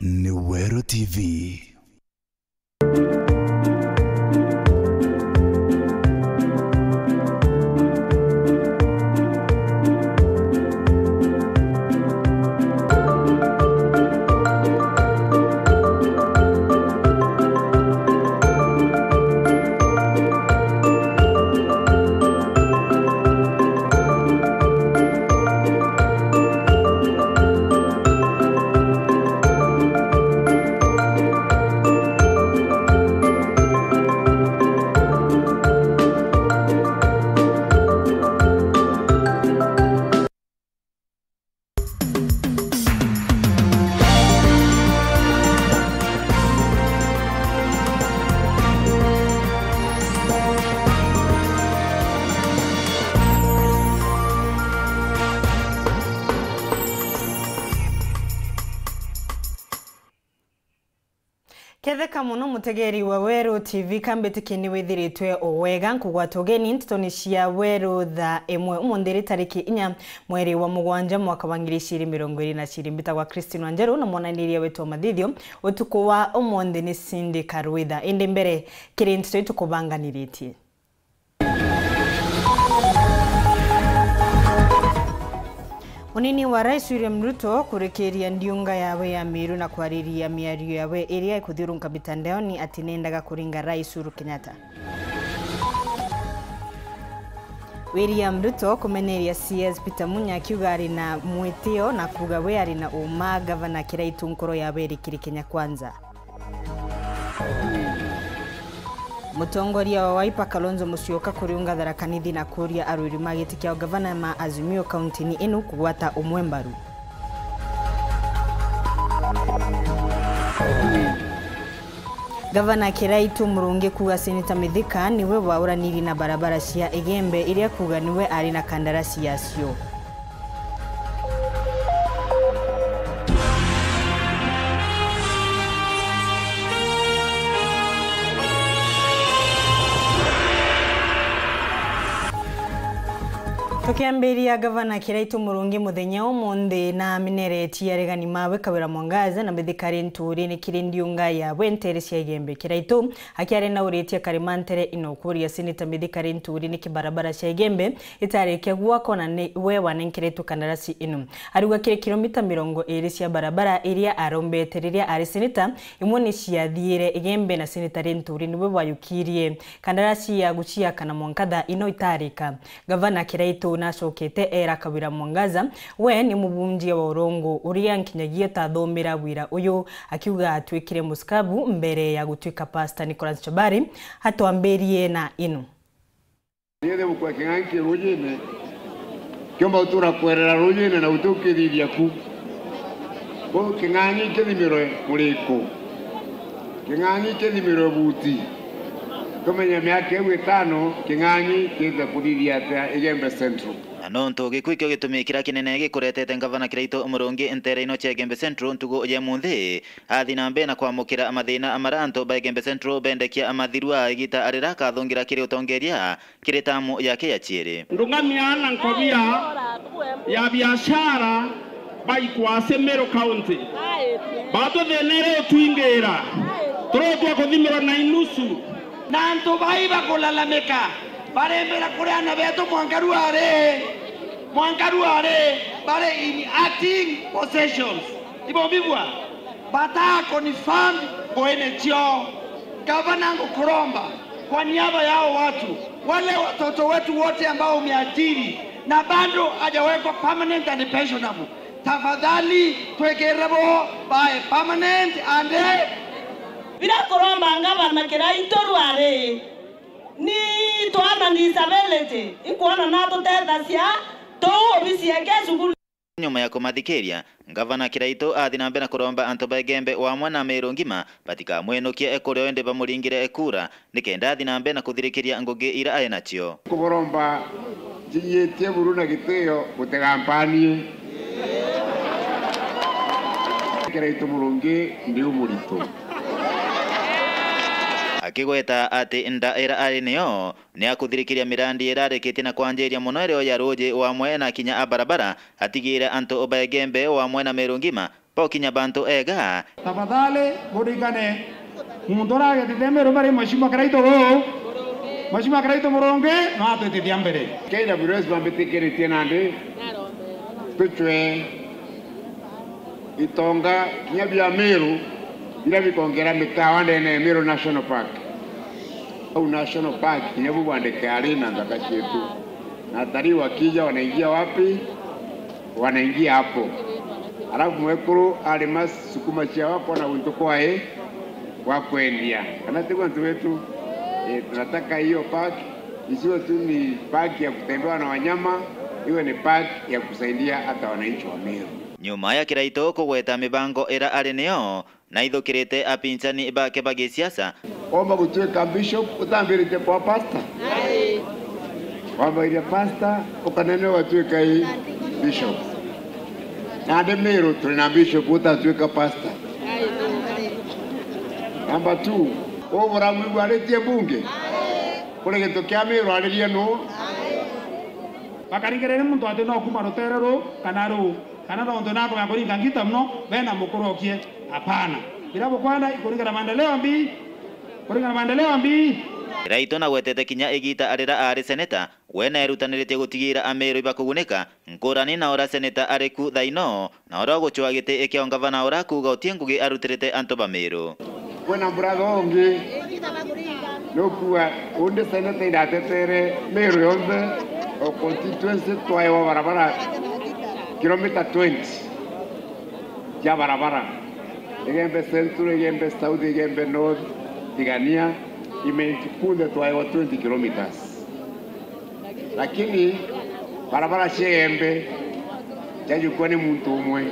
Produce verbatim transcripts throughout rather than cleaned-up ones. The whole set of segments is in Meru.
ni Weru T V. Ketheka mono mutegeri wa Weru T V, kambitikie ni withiritwe o wega nkugwata ugeni ntetoni cia Weru thaa imwe umunthi ri tariki inya mweri wa mugwanja mwaka wa ngiri igiri mirongo iri na ciri. Mbitagwa Christine Wanjeru na mwananiria wetu wa mathithio utuku wa umunthi ni Cindy Karwitha. Indi mbere kiri nteto itukubanganiritie. Munini wa Rais William Ruto kurikiria ndiunga yawe ya Meru na kwariria miario yawe iria ikuthiurunka mitandaoni ati nendaga kuringa Rais Uhuru Kenyatta. William Ruto kumeneria C S Peter Munya akiuga ari na mwitio na kuuga we ari na uma gavana Kiraitu nkoro yawe iri kiri Kenya Kwanza. Mutongoria wa Wiper Kalonzo Musyoka kuriunga Tharaka Nithi na kuuria arwiri ma giti kia ugavana ma Azimio kauntini inu kugwata umwe mbaru. Gavana Kiraitu Murungi kuuga Seneta Mithika niwe wauraniri na barabara cia Igembe iria kuuga niwe ari na kandarasi yacio. Tukiambiria, Gavana Kiraitu Murungi muthenya umunthi na amineretie aregani mawe Kawira Mwangaza na Mithika Linturi ni kiri ndiunga ya Bwentere cia Igembe. Kiraitu akiaria na uritie karima ntere ino kuuria Seneta Mithika Linturi ni kibarabara cia Igembe itarikia gwakwa na ni we wanenkeretwe kandarasi ino. Ariuga kiri kilomita mirongo iri cia barabara iria arombete riria ari seneta, imwe ni ciathiire Igembe na Seneta Linturi niwe wayukirie kandarasi ya guciaka na mwanka thaa ino itarika. Gavana Kiraitu nacokete era Kawira Mwangaza we ni mubunjia wa urongo uria nkinyagia tathomera wira uyu, akiuga atwikire muskabu mbere ya gutwika Pastor Nicholas Chabari. Atwambirie na ino. Nithi gukua king'ang'i ki ruujine, kiumba gutura kwerera ruujine na guti ukithithia ku. Kwou king'ang'i kithimirwe muriku, king'ang'i kithimirwe buti, tumenye miaka iu itano king'ang'i kiite kuthithia atia Igembe Central. Na nontu gikuu ikio gitumi kiria kinene gikuretete Ngavana Kiraitu Murungi nteere ino cia Igembe Central ntugu ya munthi, athi na mbere na kwamukira mathina maria antu ba Igembe Central bendekia mathirua igita riria akathungira kiri utongeria kiri tamu yake ya ciiri. Ndung'amia na nkobia ya biashara baikwa ase Meru County. Batuthinire utwingira, turotwa kuthimirwa na inusu. Na antu bai bakulalamika, barembera kuri aana betu mwanka ruari, mwanka ruari, bari in acting possessions. Ibo mbigua? Bataa confirm nguine ciao. Gavana, ngukuromba kwa niaba ya hao watu, wale watoto wetu wote ambao umeajiri na bado hajawekwa permanent and pensionable, tafadhali twikirire bo bae permanent and... Biria kuromba ngavana Kiraitu ruari, ni twana disability, inkwona natutethacia tuu obisi yake cukuru. Nyuma ya kumathikiria, Ngavana Kiraitu athi na mbere na kuromba antu ba Igembe wamwe na Meru ngima batikamwinukie kuria indi bamuringire kura nikenda athi na mbere na kuthirikiria ngugi ira ai nacio. Kuburomba njinyitie buru na gitio, gutigampanie. Kiraitu Murungi ndi umuritu. Akigweta ati nda ira ari niyo ni akuthirikiria mirandi irarikitie na kwanjiria mono irio ya ruuji wamwe na kinya a barabara, atigire antu ba Igembe wamwe na Meru ngima Bokinya bantu ega. Tafadhali, burikane, muntu uragetete Meru bari Mheshimiwa Kiraitu uu. Mheshimiwa Kiraitu Murungi, no atwitithia mbere. K W S bambitikiritie nandi tucwe itonga kinya bia Meru, biria bikongera mikawa ndene ya Meru National Park. Au National Park, kinya bu bwandike ari na nthaka cietu. Na atalii wakija wanaingia wapi? Wanaingia hapo. Alafu mwekuru arima sukuma ciao akona guntu kwae gwa kwendia. Kana tiguo antu betu? Eh, tunataka hiyo park isiwe tu ni park ya kutembewa na wanyama, iwe ni park ya kusaidia hata wananchi wa Meru. Nyuma ya Kiraitu kugweta mibango ira ari niyo, naithukirite apinzani bake ba gisiasa. Womba gutuika bishop utambiritie kwa pastor? Wambaire pastor, ukanene ugatuika i bishop. Nandi Meru turi na bishop utatuika pastor. Number two, ubura mwigwaritie mbunge? Kuri gintu kia Meru aririe nu? Bakarigirire muntu ati no kuma rutere ru kana ru. Kana nontu nakwenda kuringa ngita mono, bena mukurokie? Hapana. Biria bukwenda ikuringana na maendeleo mbi, kuringana na maendeleo mbi. Kiraitu nagwetete kinya igita arira ari seneta, we nerutaniritie gutigira Ameru ibakugunika, nkurani na uria seneta ari ku thaino, na uria ugucwa giti kia ungavana uria akuuga uti ngugi arutirite antu ba Meru. Kwina brother ungi nukuga undi seneta iratetere Meru yonthe, o constituency twaewa barabara kilomita twenty cia barabara, Igembe Central, Igembe South, Igembe North, Tigania, Imenti, kunthe twaewa twenty kilometers. Lakini barabara cia Igembe ciajukua ni muntu umwe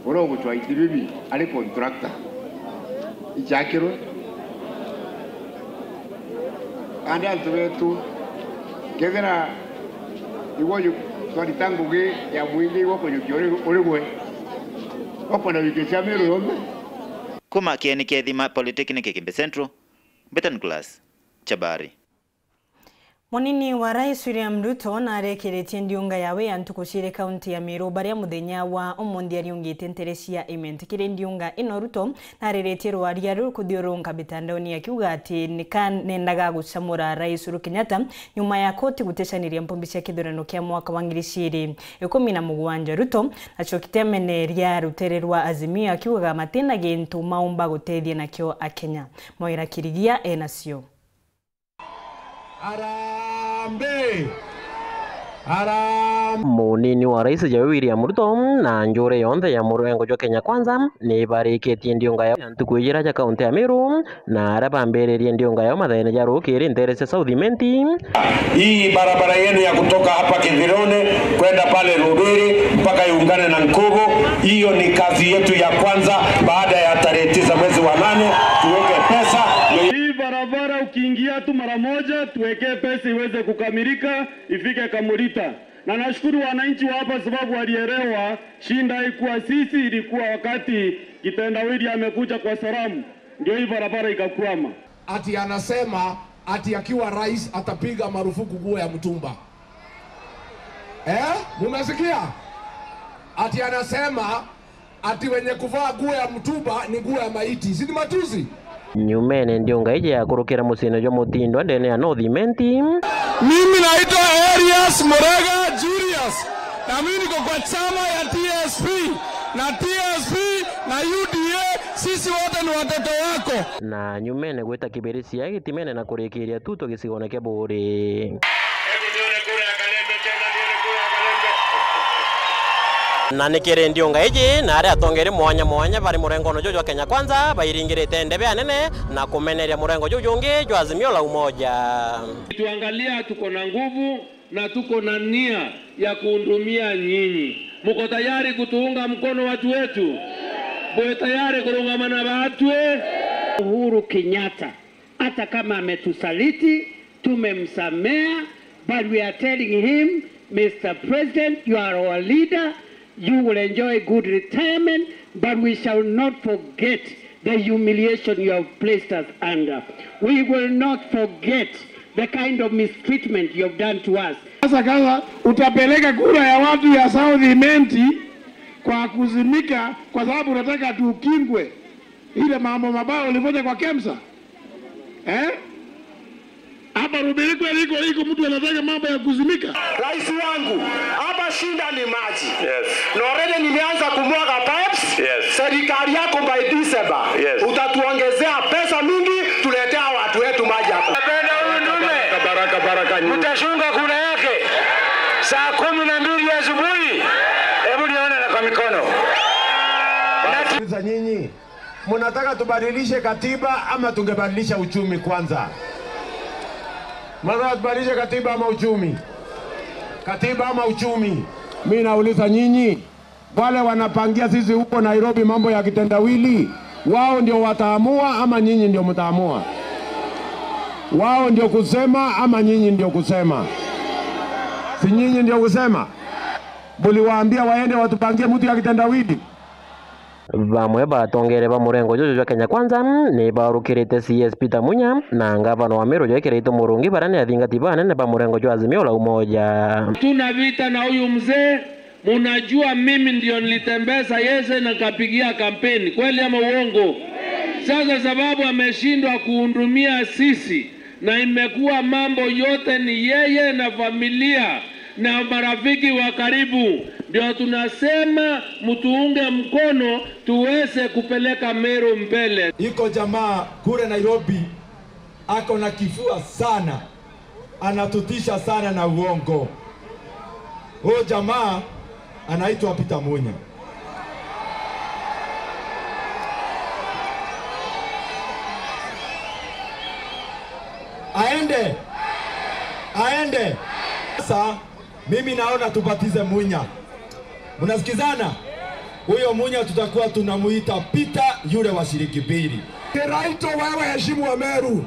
uria ugucwa iti bibi ari contractor. Ichakirwe. Kandi antu betu, kethira igwe ju-, twarita ngugi ya mwingi igwe kujukia uri, uri gwe, ukwenda jukia cia Meru yonthe? Kuma Kieni Kethima Polytechnic Igembe Central, Mbeta Nicholas Chabari. Munini wa Rais William Ruto narekiritie ndiunga yawe ya ntuku ciiri kaunti ya Meru, baria muthenya wa umunthi ariungite ntere cia Imenti. Kiri ndiunga ino, Ruto nariritie rwaria rukuthiurunka mitandaoni akiuga ati nikanendaga gucamura Rais Uhuru Kenyatta nyuma ya koti guticaniria mpumbi cia kithurano kia mwaka wa ngiri ciiri ikumi na mugwanja. Ruto acokite ameneria rutere rwa Azimio akiugaga matina gintu maumba gutethia nakio Akenya. Moira Kirigia enacio. Harambee! Harambee! Munini wa Rais Jawe William Ruto na njuri yonthe ya murengo jwa Kenya Kwanza ni barikitie ndiunga yao ya ntuku ijira ja kaunti ya Meru, na aria bambiririe ndiunga yao mathaene ja rukiri ntere cia South Imenti. Hii barabara yenu ya kutoka hapa Kithirone kwenda pale Rubiri mpaka iungane na Nkubu, hiyo ni kazi yetu ya kwanza baada ya tarehe tisa mwezi wa nane, tuweke pesa. Hii barabara ukiingia tu mara moja, tuwekee pesa iweze kukamilika, ifike Kamulita. Na nashukuru wananchi wa hapa sababu walielewa, shinda haikuwa sisi, ilikuwa wakati kitendawili amekuja kwa salamu, ndio hii barabara ikakwama. Ati anasema ati akiwa rais atapiga marufuku nguo ya mtumba. Eh? Mumesikia? Ati anasema ati wenye kuvaa nguo ya mtumba ni nguo ya maiti. Si ni matusi? Nyumene ndiunga iji ya kurukira muciine jwa Mutindwa ndene ya North Imenti. Mimi naitwa Elias Murega Julius, na mimi niko kwa chama ya T S P, na T S P na U D A, sisi wote ni watoto wako. Na nyumene gwita kibirisia gitimene na kurikiria tuto gicigone kia Buuri. Hebu nione kura ya Kalembe tena, nione kura ya Kalembe. Na ni kiri ndiunga iji na aria atongeri mwanya mwanya bari murengone juju jwa Kenya Kwanza bairingirite ndebe anene na kumeneria murengo juju jungi jwa Azimio la Umoja. Tuangalia, tuko na nguvu na tuko na nia ya kuhudumia nyinyi. Mko tayari kutuunga mkono, watu wetu? Mko tayari kurungama na batwe? Uhuru Kenyatta, hata kama ametusaliti, tumemsamea, but we are telling him, Mister President, you are our leader, you will enjoy good retirement, but we shall not forget the humiliation you have placed us under. We will not forget the kind of mistreatment you have done to us. Sasa kama utapeleka kura ya watu ya South Imenti, Kwa kuzimika kwa sababu unataka tukingwe ile mambo mabaya ulifanya kwa KEMSA? Eh? Hapa Rubiri kweli iko, iko mtu anataka mambo ya kuzimika? Rais wangu, hapa shida ni maji. Yes. Na already nimeanza kumwaga pipes. Yes. Serikali yako by December, yes, utatuongezea pesa mingi, tuletea watu wetu maji hapa. Napenda huyu ndume. Baraka, baraka, baraka nyingi. Mtashunga kura yake saa kumi na mbili asubuhi. Hebu nione na kwa mikono. Nauliza nyinyi, mnataka tubadilishe katiba ama tungebadilisha uchumi kwanza? Mnataka tubadilishe katiba ama uchumi? Katiba ama uchumi? Mimi nauliza nyinyi, wale wanapangia sisi huko Nairobi mambo ya kitendawili, wao ndio wataamua ama nyinyi ndio mtaamua? Wao ndio kusema ama nyinyi ndio kusema? Si nyinyi ndio kusema? Muliwaambia waende watupangie mtu ya kitendawili? Bamwe ba atongeria ba murengo juju jwa Kenya Kwanza ni baurukirite C S Peter Munya na ngavana wa Meru Joy Kiraitu Murungi, baria ni athingati banene ba murengo jwa Azimio la Umoja. Tuna vita na huyu mzee, munajua mimi ndio nilitembeza yeye na nikapigia kampeni, kweli ama uongo? Sasa sababu ameshindwa kuhudumia sisi, na imekuwa mambo yote ni yeye na familia na marafiki wa karibu, ndio tunasema mtuunge mkono tuweze kupeleka Meru mbele. Iko jamaa kule Nairobi ako na kifua sana, anatutisha sana na uongo. Huyo jamaa anaitwa Peter Munya. Aende. Aende. Sasa mimi naona tubatize Munya. Mnasikizana? Huyo Munya tutakuwa tunamuita Peter yule wa shilingi mbili. Kiraitu, wewe heshimu wa Meru.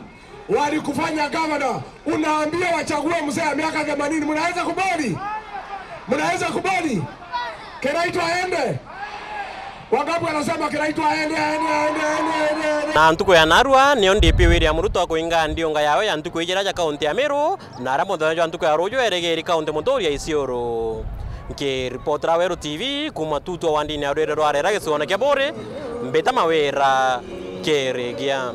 Walikufanya gavana, unaambia wachague mzee ya miaka themanini. Mnaweza kubali? Mnaweza kubali? Kiraitu aende? Wangapi wanasema Kiraitu aende, aende, aende, aende, aende, aende? Na ntuku ya narua, nio D P William Ruto akuinga ndiunga yawe ya ntuku ijira ja kaunti ya Meru, na aria muthenya jwa ntuku ya ruju erigiri kaunti muturia Isiolo. Nkiripotera Weru T V kuma Tutwa wandini ya rwiri rwa Rera gicigoone kia Buuri, mbita Mawira Kirigia.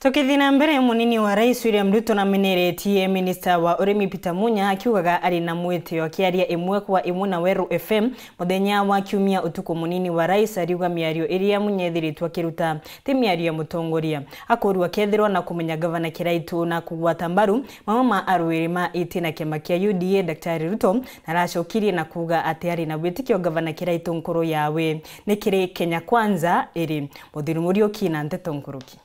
Tukithii na mbere, munini wa rais William Ruto nameneretie minista wa urimi Peter Munya akiugaga ari na mwitio. Akiaria imwe kwa imwe na Weru F M muthenya wa kiumia utuku, munini wa rais ariuga miario iria Munya ethiritwe akiruta ti miario ya mutongoria. Akurua kethirwa na kumenya gavana Kiraitu na kugwata mbaru mamwe ma arwiri ma iti na kiama kia U D A, Daktari Ruto naracokirie na kuuga ati ari na witikio gavana Kiraitu nkuru yawe ni kiri Kenya Kwanza iri. Muthuri Muriuki na nteto nkuruki.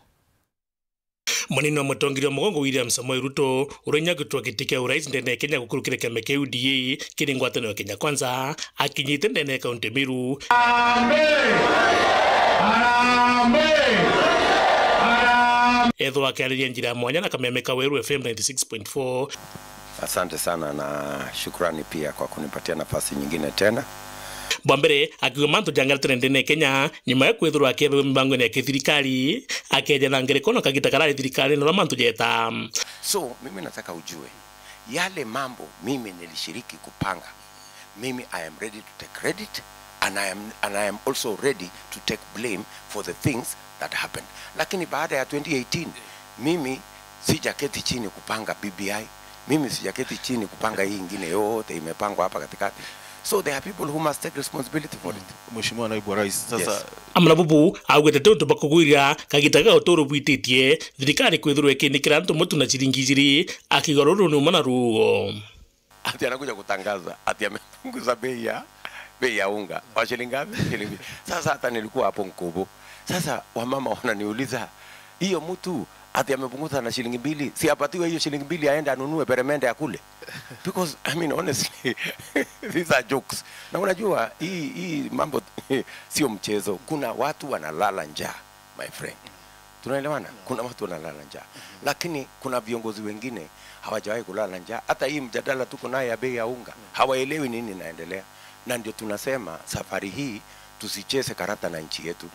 Munini wa mutongeria wa mugongo William Samoei Ruto, uria inya gutwa giti kia urais ndene ya Kenya gukurukira kiama kia U D A kiri ngwataniro ya Kenya Kwanza, akinyite ndene ya kaunti Meru. Harambee! Harambee! Harambee! Ethwa akiariria njira ya mwanya na kameme ka Weru F M ninety six point four. Asante sana na shukrani pia kwa kunipatia nafasi nyingine tena. Bwa mbere, akiuga mantu jangaratene ndene ya Kenya, nyuma ya kwithirwa akiethagwa mibangone ya kithirikari, akeja na ngerekano kagita karari thirikari na uria mantu jeta. So, mimi nataka ujue, yale mambo mimi nilishiriki kupanga, mimi I am ready to take credit and I am, and I am also ready to take blame for the things that happened. Lakini baada ya twenty eighteen, mimi sijaketi chini kupanga B B I, mimi sijaketi chini kupanga hii ingine yote imepangwa hapa katikati. So there are people who must take responsibility for it. Mheshimiwa Naibu wa Rais, sasa. Yes. Amwe na bubu augite ti untu bwa kugwira kagita ga uturo bwititie thirikari kwithirwa ikinikira antu mutu na ciringi ijiri, akiuga ruru ni uma na ruo. Ati anakuja kutangaza ati amepunguza bei ya, bei ya unga. Wa shilingi ngapi? Shilingi. Sasa hata nilikuwa hapo Nkubu. Sasa wamama wananiuliza, "Hiyo mtu ati amepunguza na shilingi mbili, si apatiwe hiyo shilingi mbili aende anunue peremende akule?" Because, I mean, honestly, these are jokes. Na unajua, hii, hii mambo sio mchezo. Kuna watu wanalala njaa, my friend. Tunaelewana? Kuna watu wanalala njaa. Lakini kuna viongozi wengine hawajawahi kulala njaa. Hata hii mjadala tuko naye ya bei ya unga, hawaelewi nini inaendelea. Na ndio tunasema safari hii tusicheze karata na nchi yetu.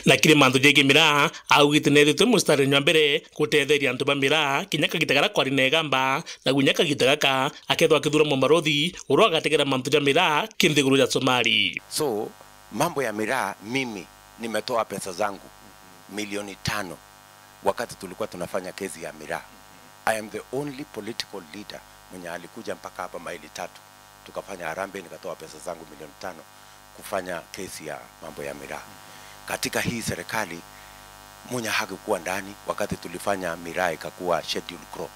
Na kiri mantu jegie miraa, augite neethitwe mustarini jwa mbere gutetheria antu ba miraa, kinya kagita karia kwari na igamba, na kinya kagita gaka, akethwa akithura mubarothi, uria agategera mantu ja miraa, ki nthiguru ya Somali. So, mambo ya miraa, mimi nimetoa pesa zangu milioni tano wakati tulikuwa tunafanya kesi ya miraa. I am the only political leader mwenye alikuja mpaka hapa Maili Tatu, tukafanya harambee, nikatoa pesa zangu milioni tano kufanya kesi ya mambo ya miraa. Katika hii serikali, Munya hakukuwa ndani wakati tulifanya miraa ikakuwa scheduled crop.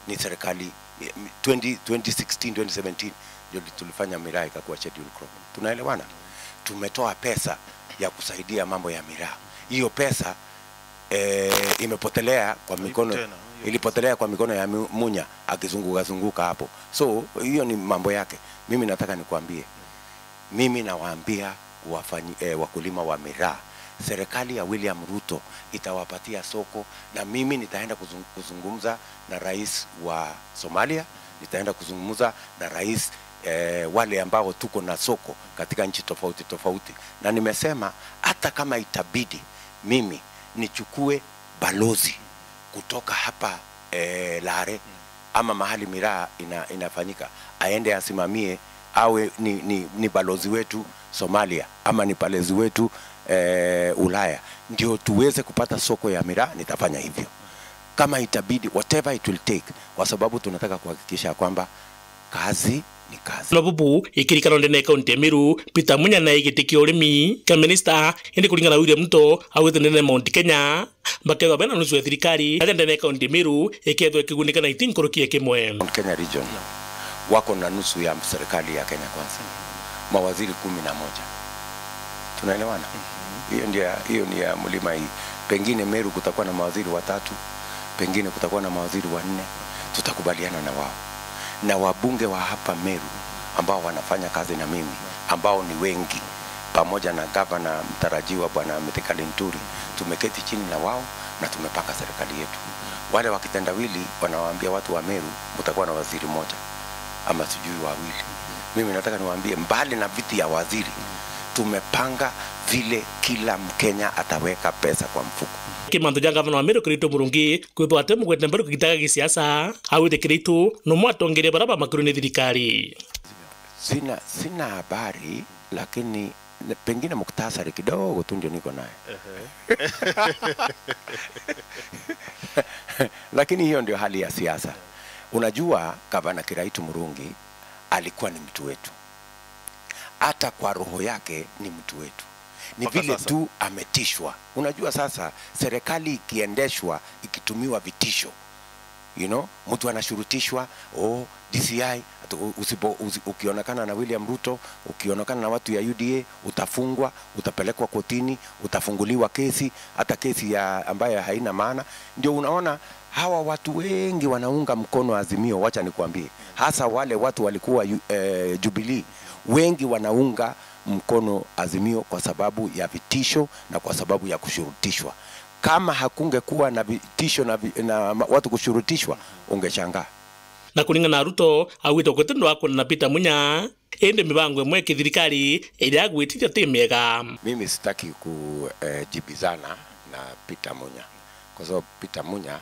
Ni serikali, eh, twenty, twenty sixteen, twenty seventeen ndio tulifanya miraa ikakuwa scheduled crop. Tunaelewana? Tumetoa pesa ya kusaidia mambo ya miraa. Hiyo pesa, eh, imepotelea kwa mikono, tena, hiyo ilipotelea kwa mikono ya Mu-, Munya akizunguka zunguka hapo. So, hiyo ni mambo yake. Mimi nataka nikwambie, mimi nawaambia wafanyi-, eh, wakulima wa miraa, serikali ya William Ruto itawapatia soko, na mimi nitaenda kuzung-, kuzungumza na rais wa Somalia, nitaenda kuzungumza na rais, eh, wale ambao tuko na soko katika nchi tofauti tofauti. Na nimesema hata kama itabidi mimi nichukue balozi kutoka hapa, eh, Lare ama mahali miraa ina-, inafanyika, aende asimamie, awe ni, ni, ni balozi wetu Somalia ama ni balozi wetu, eh, Ulaya, ndio tuweze kupata soko ya miraa, nitafanya hivyo kama itabidi, whatever it will take, kwa sababu tunataka kuhakikisha kwamba kazi ni kazi. Na bubu, ikirikano ndene ya kaunti ya Meru, Peter Munya na giti kia urimi kia minista, indi kuringana na William Ruto, augite ndene ya Mount Kenya, bakethwa bena nusu ya thirikari, aja ndene ya kaunti ya Meru ikethwa ikigunika na iti nkuruki ya kimwe. Mount Kenya region wako na nusu ya serikali ya Kenya Kwanza, mawaziri kumi na moja. Tunaelewana? Hiyo ndio ya, hiyo ni ya mlima hii. Pengine Meru kutakuwa na mawaziri watatu, pengine kutakuwa na mawaziri wanne, tutakubaliana na wao. Na wabunge wa hapa Meru ambao wanafanya kazi na mimi, ambao ni wengi, pamoja na gavana mtarajiwa Bwana Mithika Linturi, tumeketi chini na wao na tumepanga serikali yetu. Wale wa kitendawili wanawaambia watu wa Meru, "Mtakuwa na waziri mmoja ama sijui wawili." Mimi nataka niwaambie, mbali na viti ya waziri, tumepanga vile kila Mkenya ataweka pesa kwa mfuko. Ki mantu ja gavana wa Meru Kiraitu Murungi kwithwa atemugwete mbaru kugitaga gisiasa, augite Kiraitu numwe atongeria bara bamakuru ni thirikari. Sina, sina habari, lakini ne-, pengine muktasari kidogo tu ndio niko naye. Ehe. Lakini hiyo ndio hali ya siasa. Unajua, gavana Kiraitu Murungi alikuwa ni mtu wetu. Hata kwa roho yake ni mtu wetu. Ni vile tu ametishwa. Unajua sasa, serikali ikiendeshwa ikitumiwa vitisho, you know, mtu anashurutishwa, "Oh, D C I, atu-, u-, usipo-, usi-, ukionekana na William Ruto, ukionekana na watu ya U D A, utafungwa, utapelekwa kotini, utafunguliwa kesi, hata kesi ya ambayo haina maana." Ndio unaona hawa watu wengi wanaunga mkono Azimio, wacha nikwambie, hasa wale watu walikuwa yu-, eh, Jubilee, wengi wanaunga mkono Azimio kwa sababu ya vitisho na kwa sababu ya kushurutishwa. Kama hakungekuwa na vitisho na vi-, na ma-, watu kushurutishwa, ungeshangaa. Na kuringana na Ruto, augite gutindo akwona na Peter Munya, indi mibango imwe ya kithirikari iria agwitirie ti miega. Mimi sitaki ku, eh, jibizana na Peter Munya, kwa sababu Peter Munya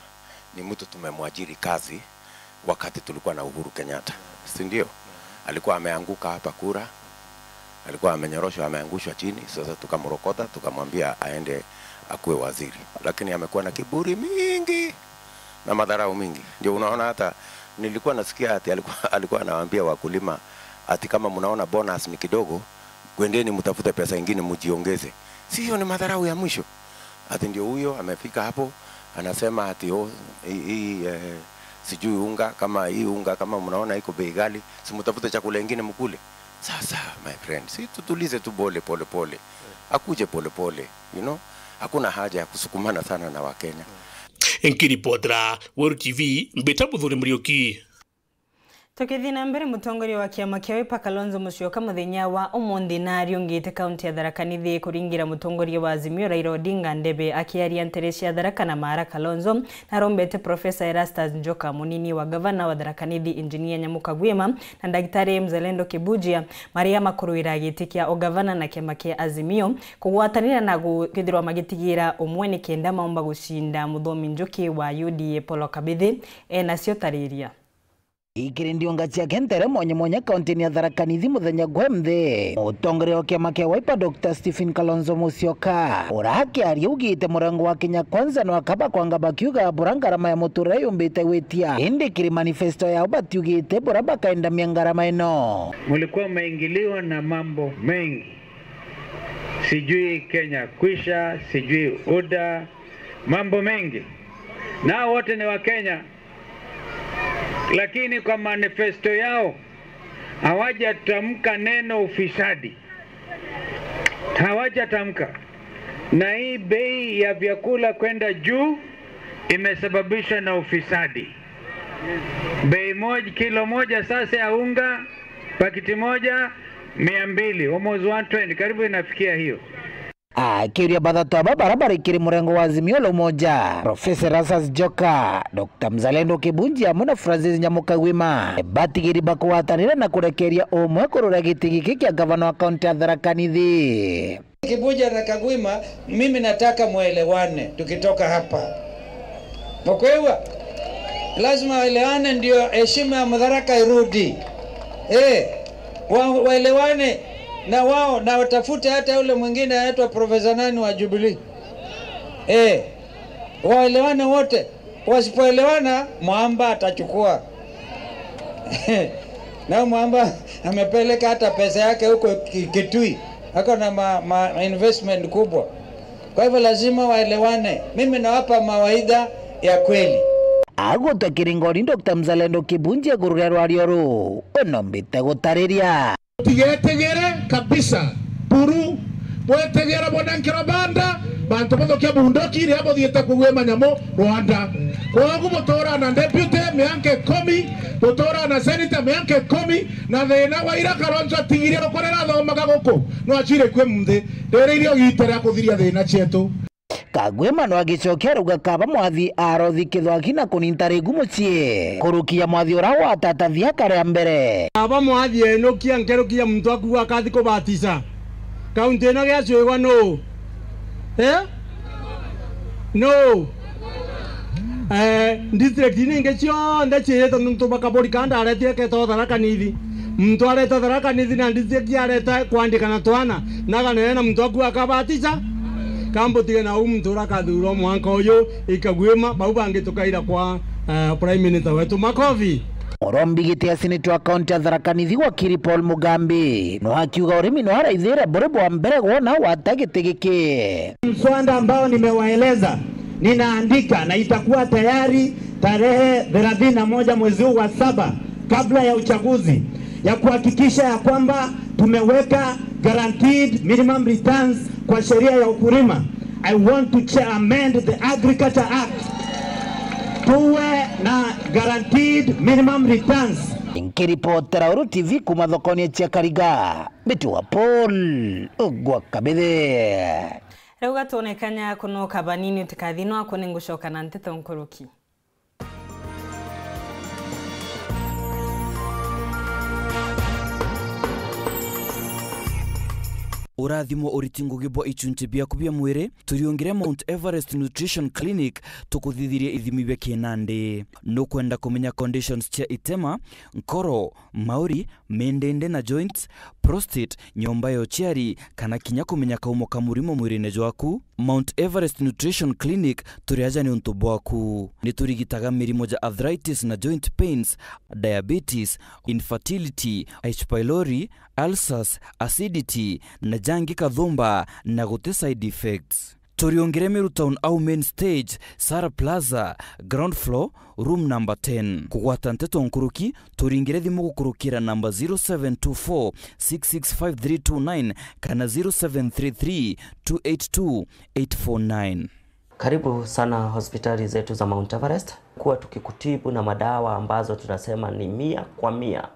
ni mtu tumemwajiri kazi wakati tulikuwa na Uhuru Kenyatta, si ndio? Alikuwa ameanguka hapa kura, alikuwa amenyoroshwa, ameangushwa chini. Sasa tukamrokota, tukamwambia aende akuwe waziri, lakini amekuwa na kiburi mingi na madharau mingi. Ndio unaona hata nilikuwa nasikia ati alikuwa, alikuwa anawaambia wakulima ati, "Kama mnaona bonus ni kidogo, kwendeni mtafute pesa ingine mjiongeze." Si hiyo ni madharau ya mwisho? Ati ndio huyo amefika hapo, anasema ati, "Oh, hii, hii, eh, sijui unga, kama hii unga, kama mnaona iko bei ghali, si mtafute chakula ingine mkule." Sasa, my friend, si tutulize tu pole, pole, pole. Akuje pole, pole, you know? Hakuna haja ya kusukumana sana na Wakenya. Nkiripotera Weru T V, mbita Muthuri Muriuki. Tukithii na mbere, mutongoria wa kiama kia Wiper Kalonzo Musyoka muthenya wa umunthi nariungite kaunti ya Tharaka Nithi kuringira mutongoria wa Azimio Raila Odinga ndebe. Akiaria ntere cia Tharaka na Maara, Kalonzo narombete Professor Erastus Njoka, munini wa gavana wa Tharaka Nithi Engineer Nyamu Kagwima, na Ndagitari Mzalendo Kibujia, maria makuruira giti kia ugavana na kiama kia Azimio, kugwatanira na gu-, kwithirwa magitigira umwe nikenda maumba gucinda muthomi njuki wa U D A Paul Kabithi. Enacio tariria. Ikiri ndiunga ciake ntere mwanya mwanya kaunti-ini ya Tharaka Nithi muthenya gwa mthi, mutongoria wa kiama kia Wiper Doctor Stephen Kalonzo Musyoka, uria akiaria augite murengo wa Kenya Kwanza no akaba kwanga bakiuga bura ngarama ya muturire yumbite gwitia, indi kiri manifesto yao batiugite bura bakaendamia ngarama ino. Mulikuwa mmeingiliwa na mambo mengi, sijui Kenya Kwisha, sijui U D A, mambo mengi, nao wote ni wa Kenya. Lakini kwa manifesto yao hawajatamka neno ufisadi, hawajatamka. Na hii bei ya vyakula kwenda juu imesababishwa na ufisadi. Bei moja, kilo moja sasa ya unga, pakiti moja, mia mbili, almost one twenty, karibu inafikia hiyo. Akiuria bathatu aba bara bari kiri murengo wa Azimio la Umoja, Professor Erastus Njoka, Doctor Mzalendo Kibunji amwe na Francis Nyamu Kagwima, batigiri bakugwatanira na kurekeria umwe kurura giti giki kia gavana wa kaunti ya Tharaka Nithi. Kibunji na Kagwima, mimi nataka mwelewane tukitoka hapa. Mkwelewa? Lazima waelewane ndio heshima ya Mutharaka irudi. Eh, wa-, waelewane na wao na watafute hata yule mwingine anaitwa Profesa nani wa Jubilee. Eh, waelewane wote. Wasipoelewana, Mwamba atachukua. Na Mwamba amepeleka hata pesa yake huko Ki-, Kitui. Ako na ma-, ma-, investment kubwa. Kwa hivyo lazima waelewane. Mimi nawapa mawaidha ya kweli. Agutwa kiringori, Doctor Mzalendo Kibunji iguru ria rwario ruu, unombite gutariria. Tigetegere kabisa. Buru, bwetegera bwana nkiro banda, bantu bathukia bunduki riria buthiite kugwima nyamu Rwanda. Kwogu buturaa na deputy mianka ikumi, buturaa na senator mianka ikumi, na thina wa ira Kalonzo atigirie rukurira athomaga guku, no acire kwi munthi. Riri irio giite ria kuthiria thina cietu. Kagwima no agicokia arauga kaba mwathi arothi kithwaki na kuninta rigu mucii. Kurukia mwathi ura watatathia kare ya mbere. Kaba mwathi enukia nkerukia muntu akuga akathi kubatisa. Kaunti ino giacwigwa nuu? Eh? Nuu? Eh, district ningi cionthe ciirite nuntu bakaburi kana ndaretire keta Tharaka Nithi. Muntu areta Tharaka Nithi na district areta kwandika na twana, naganene na muntu aku akabatisa. Kambutige na uu muntu uria akathurwa mwanka uyu ikagwima, bau bangi tukaira kwa, eh, Prime Minister wetu. Makofi. Urombi giti ya seneta wa kaunti ya Tharaka Nithi wakiri Paul Mugambi, no akiuga urimi no araithire buri bwa mbere gwona wata giti giki. Mswada ambao nimewaeleza ninaandika na itakuwa tayari tarehe thelathini na moja mwezi huu wa saba, kabla ya uchaguzi, ya kuhakikisha ya kwamba tumeweka guaranteed minimum returns kwa sheria ya ukulima. I want to cha-, amend the Agriculture Act. Tuwe na guaranteed minimum returns. Nkiripotera Uru T V kuma thokoni cia Kariga, Mbiti wa Paul gwa Kabithi. Riu gatwone kanya kunoka banini utikathi no aku ningucoka na nteto nkuruki. Urathimo uriti ngugi bwa ichunchi biaku bia mwiri, turiungire Mount Everest Nutrition Clinic, tukuthithirie ithimi bia kinandi. Nukwenda kumenya conditions cia itema, nkoro, mauri, mindindi na joints, prostate, nyomba ya uciari, kana kinya kumenya kaumo ka murimo mwirine jwaku? Mount Everest Nutrition Clinic turi aja niuntu bwaku. Ni turigitaga mirimo ja arthritis na joint pains, diabetes, infertility, H. pylori, ulcers, acidity, na jangi kathumba, na guti side effects. Turiungire Meru Town au main stage, Sara Plaza, ground floor, room number ten. Kugwata nteto nkuruki, turingire thimu gukurukira namba zero seven two four six six five three two nine kana zero seven three three two eight two eight four nine. Karibu sana hospitali zetu za Mount Everest. kuwa tukikutibu na madawa ambazo tunasema ni mia kwa mia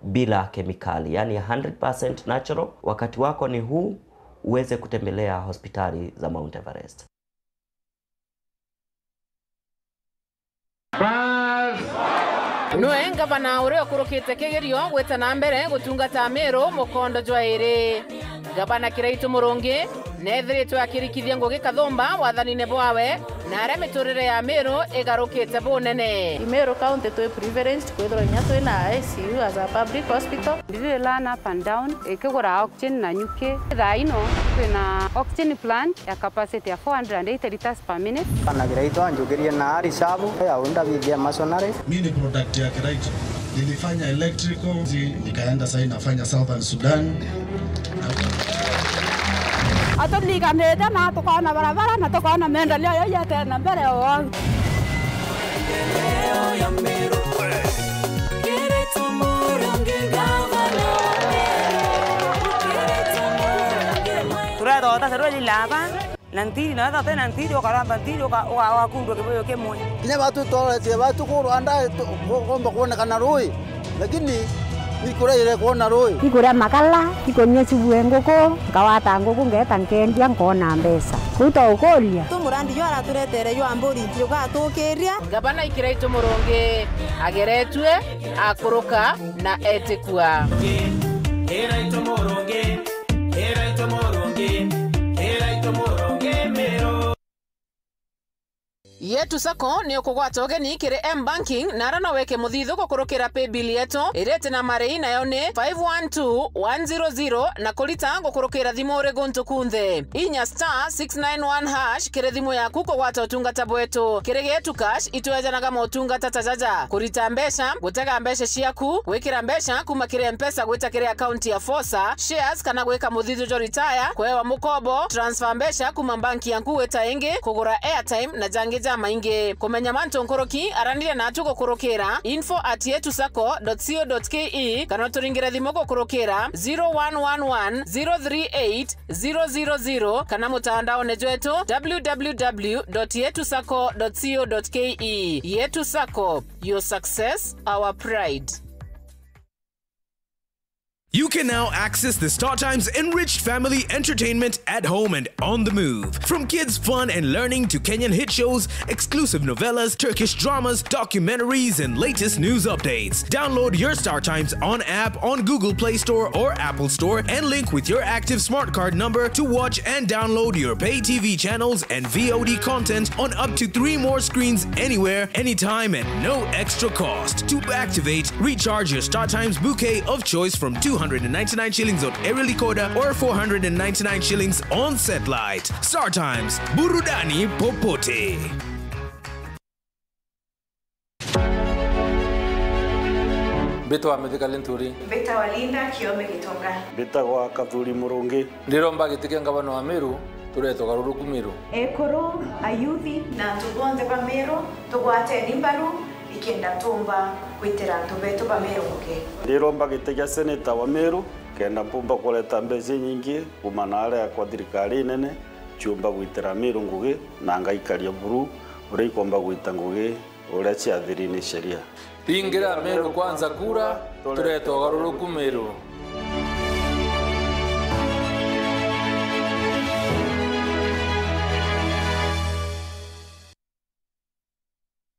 bila kemikali, yani hundred percent natural. Wakati wako ni huu uweze kutembelea hospitali za Mount Everest. Bas. Nwe ngavana uria ukurukite kigerio gwita na mbere gutungata Amiru mukondo jwa iri. Ngavana Kiraitu Murungi neethiritwe akirikithia ngugi kathumba wathanine bwawe, na aria miturire ya Amiru igarukite bunene. Meru County twi privileged kwithirwa inya twi na I C U as a public hospital. Ndiri learn up and down, ikigura oxygen na nyuki. Thaa ino twina oxygen plant ya capacity ya four hundred and eighty liters per minute. Bana Kiraitu anjukirie na ari shabu ya unda bithia masonary. Mi ni product ya Kiraitu. Nilifanya electrical, zi-, nikaenda sasa nafanya Southern Sudan. Aturiganite na tukoona barabara na tukoona maendeleo yo yetene na mbere o. Turetha utasarua lilaba. Na ntiri, na wethira utina ntiri, ukaramba ntiri, uka-, uka-, ugakundwa kibuyu kimwe. Kinya batu twaretie batu ku Rwanda, tu-, ku-, kumba kwonekana rui, lakini nikuraire kwona rui. Ikuria makala, ikunyua cibue nguku, nkawata nguku, ngeeta nkendia, nkona mbeca. Kuu twaukuria. Tu murandi jwa araturetere jwa mburi, jugatukiria. Ngavana Kiraitu Murungi ageretue, akuruka na etikua. Kiraitu Murungi. Kiraitu Murungi, Kiraitu Murungi Miru. Yetu Sacco ni ukugwata ugeni kiri M-Banking, na ara no wike muthithu gukurukira paybill yetu iria iti na marei, nayo ni five one two one zero zero, na kurita gukurukira thimu uri guntu kunthe. Inya star six nine one hash kiri thimu yaku kugwata utungata bwetu. Kiri Getu Cash, itwejanaga motungata ta jaja: kurita mbeca, gutega mbeca ciaku, gwikira mbeca kuma kiri M-Pesa gwita kiri akaunti ya Fosa, shares kana gwika muthithio jwa retire, kuewa mukobo, transfer mbeca kuma banki yaku gwita ingi, kugura airtime na jangi jamaingi. Kumenya mantu nkuruki, araniria natu gukurukira info at yetu sacco dot co dot ke kana uturingire thimu gukurukira zero one one one zero three eight zero zero zero kana mutandaone jwetu w w w dot yetu sacco dot co dot ke. Yetu Sacco, your success, our pride. You can now access the StarTimes enriched family entertainment at home and on the move. From kids' fun and learning to Kenyan hit shows, exclusive novellas, Turkish dramas, documentaries, and latest news updates. Download your StarTimes on app on Google Play Store or Apple Store and link with your active smart card number to watch and download your pay T V channels and V O D content on up to three more screens anywhere, anytime, at no extra cost. To activate, recharge your StarTimes bouquet of choice from two hundred and ninety-nine shillings on Aerial Decoder or four hundred and ninety-nine shillings on Satellite. StarTimes, burudani popote. Mbitwa Mithika Linturi. Mbitagwa Linda Kiome Gitonga. Mbitagwa Kathuri Murungi. Ndiromba giti kia ngavana wa Meru, turete ugaruruku Meru. Ekuru, ayuthi, na antu bonthe ba Meru, tugwateni mbaru, ikenda tumba gwitira antu betu ba Meru ngugi. Ndiromba giti kia seneta wa Meru, kenda mpumba kureta mbeca inyingi kuma na aria kwa thirikari nene, ciumba gwitira Meru ngugi, na ngaikaria buru uria ikomba gwita ngugi uria ciathiri ni sheria. Pingira Meru Kwanza kura, turete ugaruruku Meru.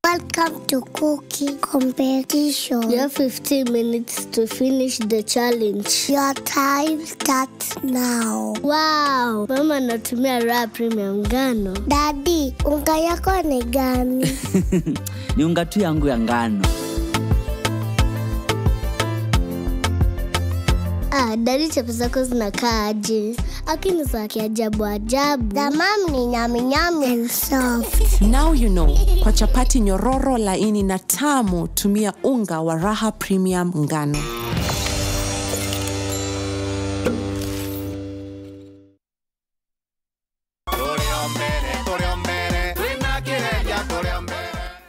Welcome to cooking competition. You have fifteen minutes to finish the challenge. Your time starts now. Wow, mama anatumia Raha Premium ngano. Daddy, unga yako ni gani? Ni unga tu yangu ya ngano. Ah, daddy, chapo zako zinakaa aje? Lakini za kiajabu ajabu. The mom ni nyami nyami and soft. Now you know, kwa chapati nyororo, laini na tamu, tumia unga wa Raha Premium ngano.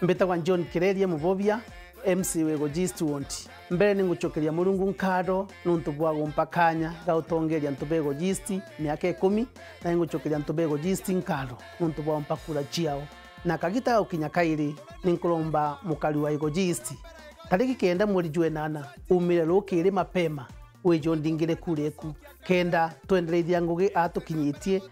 Mbitagwa John Kireria Mubobia, M C wa Igoji East Ward. Mbere ni ngucokeria Murungu nkatho nuntu bwa gumpa kanya ga utongeria antu ba Igoji East miaka ikumi, na ni ngucokeria antu ba Igoji East nkatho nuntu bwa gumpa kura ciao Na kagita ga gukinya kairi, ni nkuromba mukari wa Igoji East, tariki kenda mweri jwa enana, umire rukiri mapema, wije undingire kura eku, kenda twendereithia ngugi aa tukinyitie,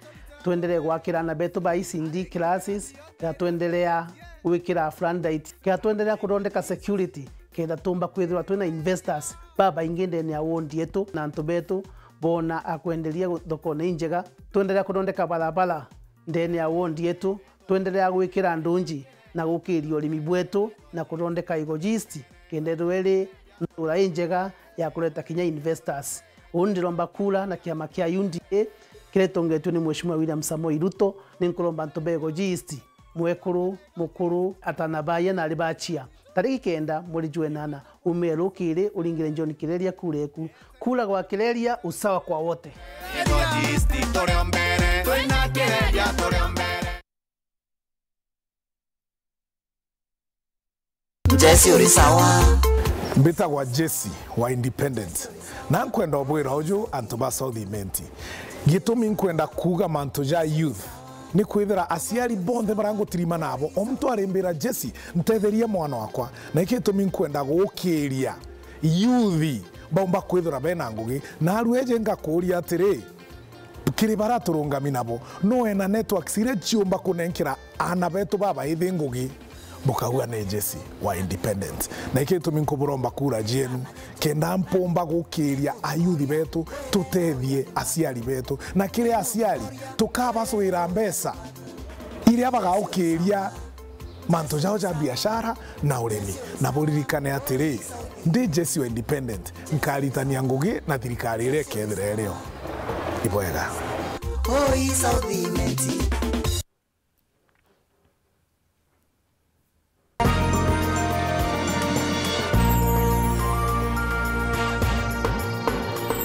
twenderee gwakira aana betu ba E C D classes, kenda twenderea gwikira floodlight, kenda twenderea kuthondeka security, kenda tumba kwithirwa twina investors babaingi ndene ya ward yetu, na antu betu boona a kwenderia thokone injega, twenderea kuthondeka barabara ndene ya ward yetu, twenderea gwikira ndunji na gukiria urimi bwetu na kuthondeka Igoji East, kenda ithirwe iri ntura injega ya kureta kinya investors. Uu ndiromba kura na kiama kia U D A kiria gitongetue ni Mheshimiwa William Samoei Ruto, ni nkuromba antu ba Igoji East, mwekuru, mukuru, atana baaya na ari bachia, tariki kenda mweri jwa enana, umire rukiri uringire John Kireria kura eku. Kura gwa Kireria, usawa kwa wote. Jesse uri sawa. Mbitagwa Jesse wa Independent, na nkwenda ubwira uju antu ba South Imenti. Gitumi nkwenda kuuga mantu ja youth ni kwithira aciari bonthe baria ngutirima nabo, o muntu arimbira, Jesse, ntetheria mwana wakwa. Na iki gitumi nkwenda gukiria youth baumba kwithira bena ngugi. Na aru eje ngakuuria atiri, kiri baria turungami nabo, no wena networks iria ciumba kunenkera aana betu babaithi ngugi? Bukauga ni Jesse wa Independent. Na iki gitumi nkuburomba kura cienu, kenda mpumba gukiria ayuthi betu, tutethie aciari betu. Na kiri aciari, tukabacwira mbeca iria bagaukiria mantu jao ja biashara na urimi. Na buririkane atiri, ndi Jesse wa Independent, nkaritania ngugi na thirikari iria ikethira irio. Ibwega. Oi South Imenti.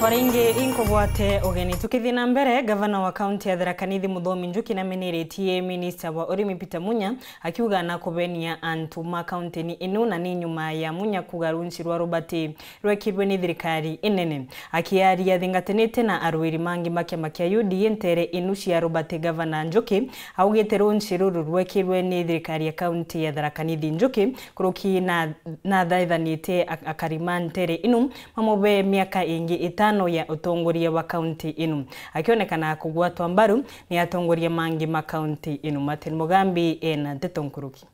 O ringi inkugwate ugeni. Tukithii na mbere, gavana wa kaunti ya Tharaka Nithi Muthomi Njuki nameneretie minista wa urimi Peter Munya, akiuga na kubenia antu ma kauntini inu, na ni nyuma ya Munya kuuga runci rwa rubati rwekirwe ni thirikari inene. Akiaria athingatanite na arwiri mangi ma kiama kia U D A ntere inu cia rubati, gavana Njuki augite runci ruru rwekirwe ni thirikari ya kaunti ya Tharaka Nithi. Njuki kuruki na, na athaithanite ak-, akari ma ntere inu mamube miaka ingi itano ya utongoria wa kaunti inu, akionekana kugwatwa mbaru ni atongoria mangi ma kaunti inu. Martin Mugambi ena nteto nkuruki.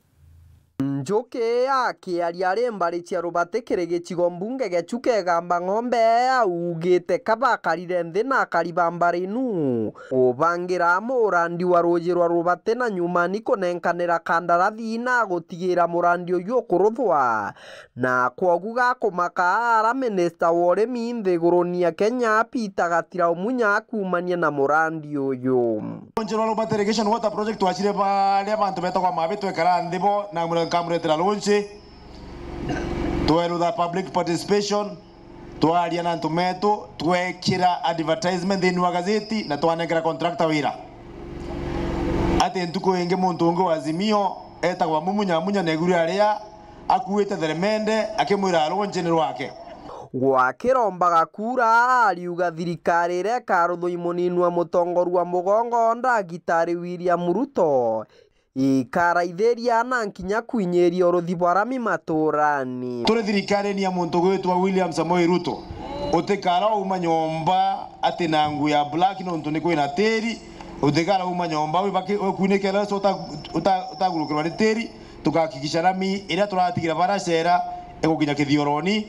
Njuki akiaria ari mbari cia rubati kiri gicigo mbunge gia Chuka Igamba Ng'ombe, augite kabakarire nthi na akari ba mbari inu kubangira amwe urandi wa ruuji rwa rubati na nyumani kunenkanira kandarathi na gutigira murandi uyu ukuruthwa. Na kwogu gakumaka ara minista wa urimi nthiguruni ya Kenya Peter Gatira Umunya akuumania na murandi uyu. Rwonje rwa Rubati Irrigation Water Project twacire baria bantu betagwa Mabi twekara nthi bo na mure-, nkamuretera rwonje. Twerutha public participation, twaria na antu metu, twekira advertisement thiini wa gazeti na twanenkera contractor wira. Ati ntuku ingi muntu ungi wa Azimio etagwa Mumunya Munya neguri aria akuite theremende akimwira rwonje ni rwake. Gwakirombaga kura, ariuga thirikari iria ikaruthwa i munini wa mutongoria wa mugongo Ndagitari William Ruto, ikaraithiria na nkinya kwinyiria uruthi bwa rami maturani. Turi thirikarini ya muntu ugwitwa William Samoei Ruto, utikara uma nyomba ati na nguo ya black nontu ni kwina tiri, utikara uma nyomba wibaki-, wikuinikira uta-, uta-, utagurukirwa ni tiri. Tugakikisha rami iria turatigira baracera igukinya kithioroni,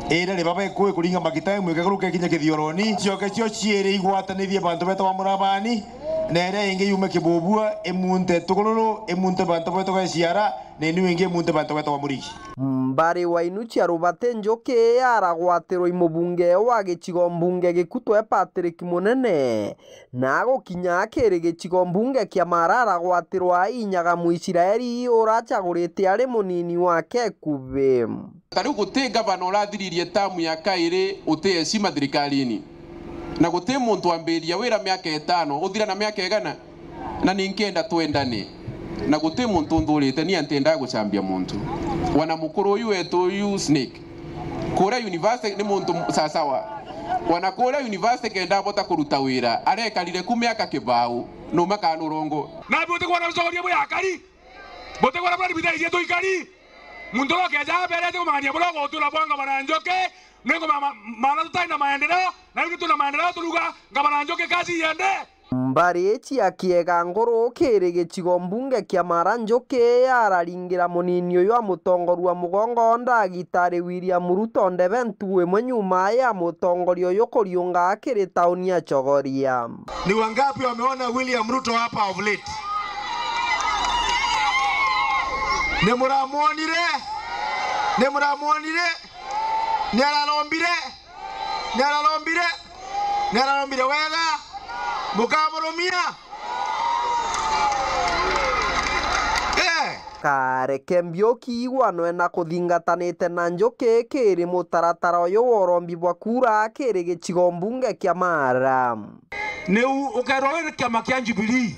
iria ribaba ikui kuringa magita imwe ikagaruka ikinya kithioroni. Cioke cio ciiri igwatanithie bantu betagwa Murabani, na iria ingi yume Kibubua, imunte Tukururu, imunte bantu betagwa Iciara, na inu ingi imunte bantu betagwa Murigi. Mbari wa inu cia Rubati Njuki aragwatirwa i mubunge wa gicigo mbunge Gikutwe Patrick Munene, na agukinya akiri gicigo mbunge kia Mara aragwatirwa inyaga Muisiraeli uracagurite ari munini wake ikubi. Ta riu guti ngavana urathiririe tamu ya kairi uti heshima thirikarini, na guti muntu wambiriria wira miaka itano uthira na miaka igana, na ninkenda twendane, na guti muntu unthurite, ni antendaga gucambia muntu. Wana mukuru uyu wetu uyu Snake, kuria university ni muntu sasawa. Wana kuria university kenda abota kuruta wira, arekarire ku miaka kibau, numa kana urongo. Nambi uti kwona ucogoria bwi akari? Buti kuria bura bithairie tuikari. Muntu uria ukeja aberete kumang'ania buria ugutura bwa ngavana Njuki, ni nguma ma-, maana tutai na maendeleo, na riu tuna maendeleo turuga, ngavana Njuki kazi iende. Mbari cia kiega nguru kiri gicigo mbunge kia Mara, Njuki araringira munini uyu wa mutongoria wa mugongo ndagitari William Ruto ndebe ntugu imwe nyuma ya mutongoria uyu kuriunga kiri tauni ya Chogoria. Ni wangapi wameona William Ruto hapa of late? Ni muramwonire? Ni muramwonire? Ni ararombire? Ni ararombire? Ni ararombire wega? Mukamurumia? Eh. Kareke Mbiuki igwanwe na kuthingatanite na Njuki kiri mutaratara uyu wa urombi bwa kura kiri gicigo mbunge kia Mara. Niu ukerwa wi kiama kia Jubilee,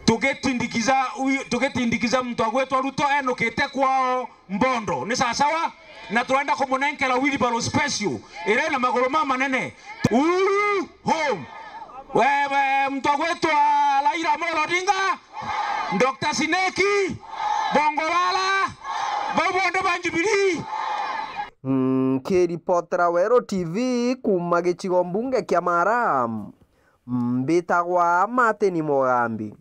tugitindikiza wi-, tugitindikiza muntu agwitwa Ruto enukite kwao Mbondo. Ni sawasawa? Na turenda kumunenkera wheelbarrow special iri na maguru mamanene. Uhuru home. We, we, muntu agwitwa Raila Amolo Odinga, Doctor Sineki, Bongo Lala, bau bonthe ba Jubilee. Mm, nkiripotera Weru T V kuuma gicigo mbunge kia Mara, mbitagwa Martin Mugambi.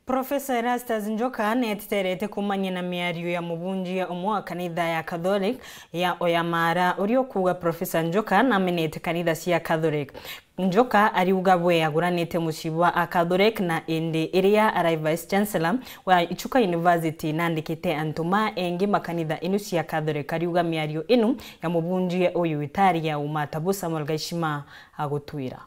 Profesa Erastus Njoka neteterete kumania na miario ya mubunjia umwe wa kanitha ya Catholic ya Oyamara, uria ukuuga Profesa Njoka namenete kanitha cia Catholic. Njoka ariuga bwe aguranite mucii bwa a Catholic, na indi iria arai Vice Chancellor wa Ichuka University nandikite antu ma engi makanitha inu cia Catholic, ariuga miario inu ya mubunjia uyu itari ya uma, ta bu Samuel Gaishima agutwira.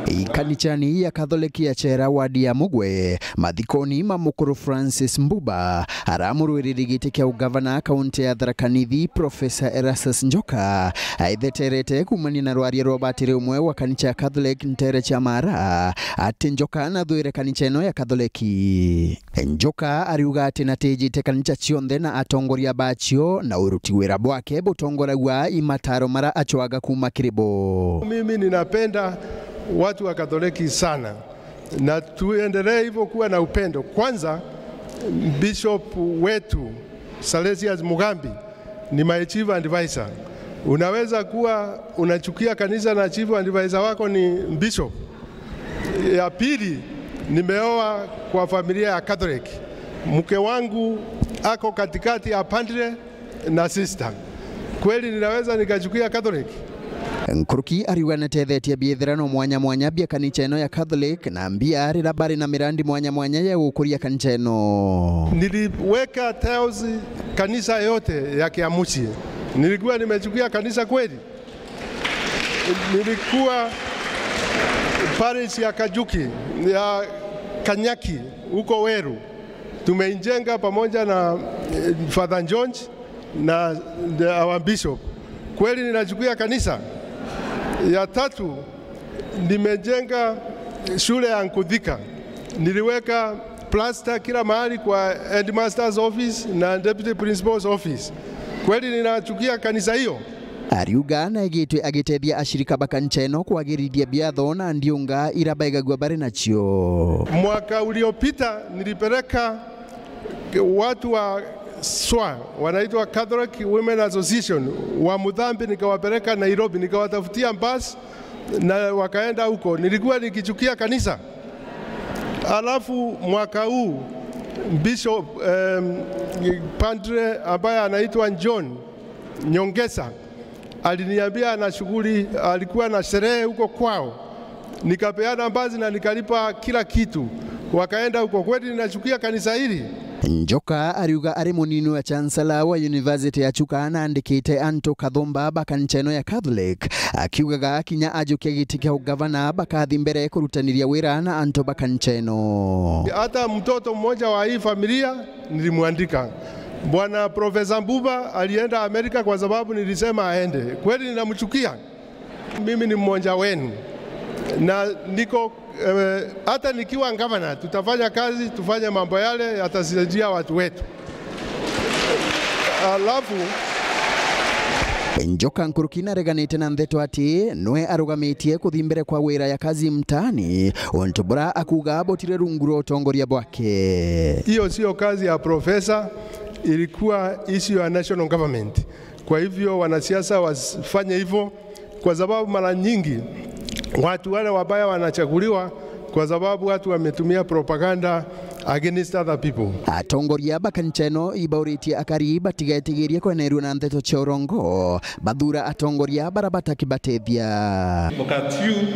Ikanithani ya Catholic ya Chera wadi ya Mugwe, mathikoni ma mukuru Francis Mbuba, aramurwiriri giti kia ugavana kaunti ya Tharaka Nithi, Professor Erastus Njoka, aitheterete kumania na rwaria rwa batiri umwe wa kanitha ya Catholic ntere cia Mara, ati Njoka nathwire kanitha ino ya Catholic. Njoka ariuga ati natijite kanitha cionthe na atongoria bacio, na uruti wira bwake butongoragua i mataro mara acwaga kuma kiri bo. Mimi ninapenda watu wa Katoliki sana, na tuendelee hivyo kuwa na upendo. Kwanza, Bishop wetu Salesius Mugambi ni my chief advisor. Unaweza kuwa unachukia kanisa na chief advisor wako ni bishop. Ya pili, nimeoa kwa familia ya Catholic. Mke wangu ako katikati ya padre na sister. Kweli ninaweza nikachukia Catholic? Nkuruki ariuga natethetie biithirano mwanya mwanya bia kanitha ino ya Catholic na mbia riria bari na mirandi mwanya mwanya ya gukuria kanitha ino. Niliweka tiles kanisa yote ya Kiamuchie. Nilikuwa nimechukia kanisa kweli? Nilikuwa parish ya Kajuki, ya Kanyaki, huko Weru. Tumeijenga pamoja na, eh, Father George na the, our bishop. Kweli ninachukia kanisa? Ya tatu, nimejenga shule ya Nkuthika. Niliweka plaster kila mahali kwa headmaster's office na deputy principal's office. Kweli ninachukia kanisa hiyo? Ariuga naigitwe agitethia ashirika ba kanitha ino kwagirithia biatho na ndiunga ira baigagua bari nacio. Mwaka uliopita nilipeleka watu wa SWA, wanaitwa Catholic Women Association, wa Muthambi, nikawapeleka Nairobi, nikawatafutia bus na wakaenda huko. Nilikuwa nikichukia kanisa. Alafu mwaka huu Bishop, em, Padre ambaye anaitwa John Nyongesa aliniambia ana shughuli, alikuwa na sherehe huko kwao. Nikapeana basi na nikalipa kila kitu. Wakaenda huko. Kweli ninachukia kanisa hili? Njoka ariuga ari munini wa chancellor wa University ya Chuka na andikite antu kathumba ba kanitha ino ya Catholic, akiugaga kinya ajukia giti kia ugavana bakathi mbere kurutaniria wira na antu ba kanitha ino. Hata mtoto mmoja wa hii familia nilimwandika. Bwana Profesa Mbuba alienda Amerika kwa sababu nilisema aende. Kweli ninamchukia? Mimi ni mmoja wenu. Na niko, eh, hata nikiwa gavana, tutafanya kazi, tufanye mambo yale yatasaidia watu wetu. Alafu, Njoka nkuruki nareganite na ndeto ati nwe arugamitie kuthi mbere kwa wira ya Kazi Mtaani, untu bura akuuga butire rungu rwa utongoria bwake. Hiyo sio kazi ya profesa, ilikuwa issue ya national government. Kwa hivyo wanasiasa wasifanye hivyo, kwa sababu mara nyingi watu wale wabaya wanachaguliwa kwa sababu watu wametumia propaganda against other people. Atongoria ba kanisa ino ibauritie akari batigetigirie kwenerua na ndeto cia urongo, bathura atongoria bara batakibatethia. Wakati huu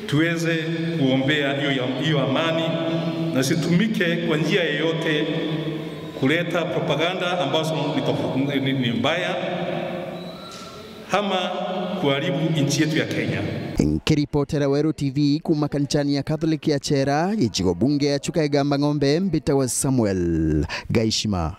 tuweze kuombea hiyo ya, hiyo amani, na situmike kwa njia yoyote kuleta propaganda ambazo ni tof-, ni, ni, ni mbaya ama kuharibu nchi yetu ya Kenya. Nkiripotera Weru T V kuuma kanisani ya Catholic ya Chera, gicigo bunge ya Chuka Igamba Ng'ombe, mbitawa Samuel Gaishima.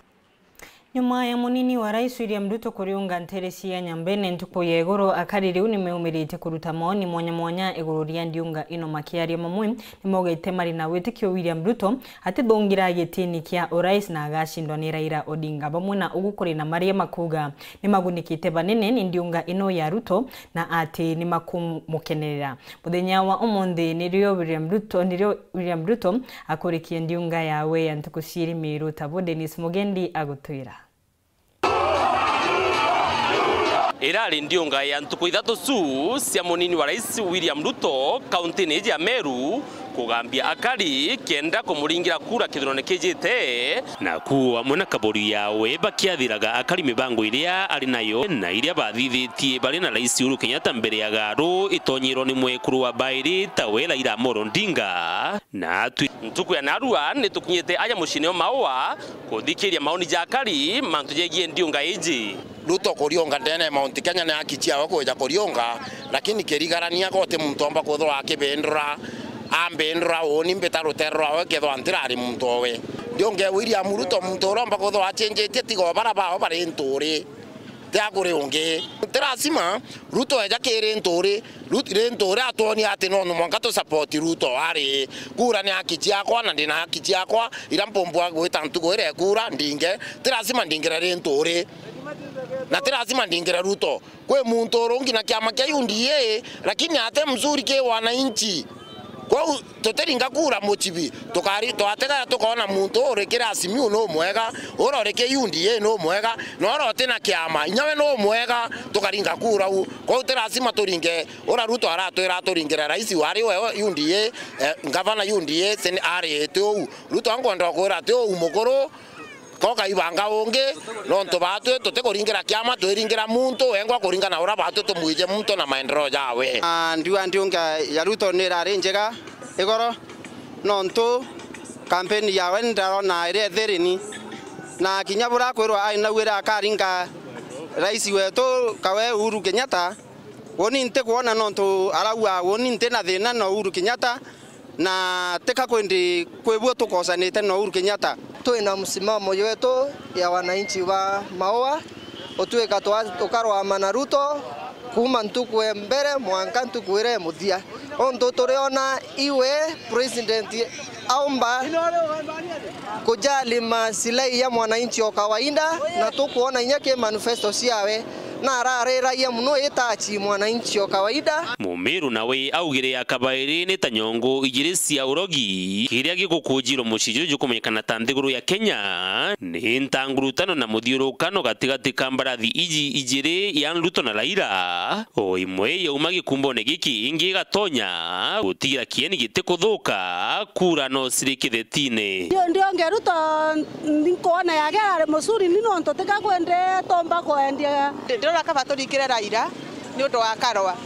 Nyuma ya munini wa Rais William Ruto kuriunga nteere cia Nyambene ntuku ya iguru, akari riu nimeumirite kuruta maoni mwanya mwanya iguru ria ndiunga ino. Makiaria, mamwe nimaugite mari na witikio William Ruto atithungira gitini kia urais na agacindwa ni Raila Odinga. Bamwe na ugu kuri na maria makuuga nimagunikite banene ni ndiunga ino ya Ruto na ati nimakumukenerera. Muthenya wa umunthi nirio William Ruto, nirio William Ruto akurikie ndiunga yawe ya ntuku ciiri Miru, tabo Dennis Mugendi agutwira. Irari ndiunga ya ntuku ithatu cu cia munini wa Rais William Ruto kaunti-ini iji ya Meru, kugambia akari kenda kumuringira kura kithurano kijite, na kuo amwe na kaburi yawe bakiathiraga akari mibango iria ari nayo na iria bathithitie bari na Rais Uhuru Kenyatta mbere ya garu itonyirwo ni mwekuru wa bairi tawe Raila Amolo Odinga. Na atwi ntuku ya narua ni tukinyite aja muciini o Maua kuthikiria maoni ja akari mantu jegie ndiunga iji. Ruto kuriunga ndene ya Mount Kenya ni haki ciawe kwija kuriunga, lakini kirigarania goti muntu omba kwithirwa akibindura, ambindura uuni mbita rutere rwawe kethirwa ntirari muntu owe. Ndiunge William Ruto muntu uria omba kwithirwa acenjetie tiga o bara bao bari nturi, ti akuri ungi. Ti lazima Ruto eja kiri nturi, Rut-, ri nturi atwonie ati no mwanka tu support Ruto ari. Kura ni haki ciakwa na ndina haki ciakwa, ira mpumbwa gwita ntuku iria kura ndinge, ti lazima ndingire ri nturi. Na ti lazima ndingire Ruto. Kwi muntu urungi na kiama kia U D A, lakini ate mzuri ki wananchi. Kwou tutiringa kura mucibi, tukari-, twatega tukoona muntu uri kiri Azimio no mwega, ura uri kiri U D A no mwega, na ura uti na kiama, inya we no mwega, tukaringa kura u. Kwou ti lazima turinge, ura Ruto aratwira turingire rais wari we U D A, eh, ngavana U D A, sen-, ari ti uu. Ruto ankwenda kwira ti uu mukuru, Koka ibanga ungi, nontu baatwi tutikuringira kiama, twiringira muntu wengwa kuringana na uria baatwi tumwije muntu na maendeleo jawe. Na ndiuga ndiunga ya Ruto ni irari njega igoro, nontu kampeni yawe ndarona iri ethirini, na kinya buria akwirwa ai nauire akaringa rais wetu kawe Uhuru Kenyatta, uuni ntikwona nontu arauga uuni nti na thina na Uhuru Kenyatta, na tika kwindi kwi buo tukosanite na Uhuru Kenyatta. Twina msimamo yetu ya wananchi ba Maua, utwika twa-, tukarwama na Ruto kuuma ntuku e mbere mwanka ntuku iria e muthia. Untu turiona iwe president aumba kujali maslahi ya mwananchi o kawaida, na tukwona inya ki manifesto ciawe, na arariragia muno itachi mwananchi o kawaida. Mumiru nawe augire ya kabairi ni ta nyongo ijiri cia urogi, kiria gigukujirwo mucii juju jukumenyekana ta nthiguru ya Kenya, ni ntangurutano na muthiurukano gatigati ka mbarathi iji ijiri ya Ruto na Raila. O imwe yauma gikumbone giki, ingi igatonya gutigira kieni gitikuthuka, kura no ciri kithetine. Ndio, ndio ngeruta nkwona yake ari mucuri ni nontu tika kwende tomba kwendia. Ndirona kaba turingire Raila ni undu wa Karwa.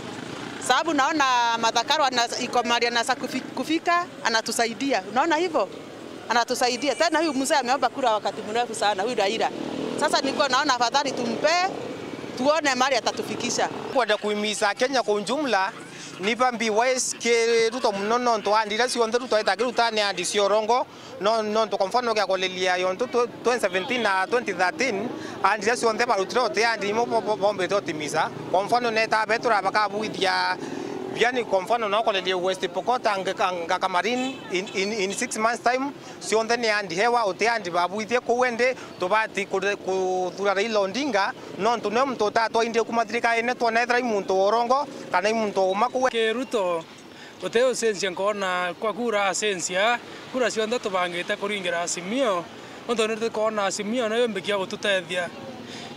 Sababu naona Martha Karwa na iko mahali anasa kufi-, kufika, anatusaidia. Unaona hivyo? Anatusaidia. Tena huyu mzee ameomba kura wakati mrefu sana, huyu Raila. Sasa nilikuwa naona afadhali tumpe, tuone mahali atatufikisha. Kwenda kuhimiza Kenya kwa ujumla, ni ba be wise ki Ruto muno nontu andi iria cionthe Ruto aita akiruta ni andi cia urongo. No, nontu kwa mfano ukia kulilia yontu tw-, twenty seventeen na twenty thirteen, andi iria cionthe barutire uti andi imwe bo-, bo-, bombite utimisa. Kwa mfano neta betura bakabuithia Yani, kwa mfano, no korerie West Pokot, Ngaka, Ngaka Marine, in, in, in six months time, cionthe ni andi hewa, uti andi babwithie kuu, indi tubati kure-, kuthura Raila Odinga, nontu niwe muntu utatwaindie kuma thirikarine, twona ethira i muntu wa urongo, kana i muntu wa uma kuu. Ki Ruto, uti ucenjia nkoona kwa kura acenjia, kura cionthe tubangite kuringira Azimio, nontu ni tukoona Azimio niyo imbikia gututethia.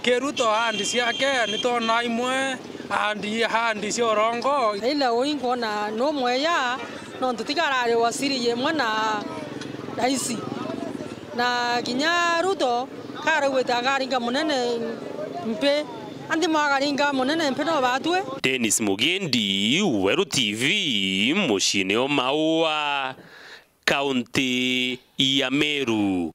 Ki Ruto ahandi ciake, ni twona imwe ahandi, ahandi cia urongo. Raila ui nkwona no mweya, nontu tiga arari waziri yemwe na raisi. Na kinya Ruto karaugite akaringa munene mpi, anthi mwakaringa munene mpi no batue. Dennis Mugendi, Weru T V, muciine o Maua, kaunti ya Meru.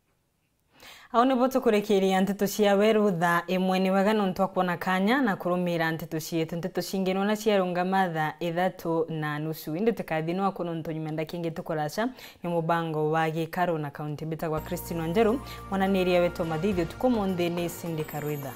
Au nibo tukurikiria nteto cia Weru thaa imwe. Ni wega nontu wa kwona kanya na kurumira nteto cietu. Nteto cingi nona ciarungama thaa ithatu na nusu. Indi tukathi nwaku nontu nyuma ndaki ingi tukuraca ni mubango wa Gikaru na kaunti. Mbitagwa Christine Wanjeru, mwananiria wetu wa mathithio tuku munthi ni Cindy Karwitha.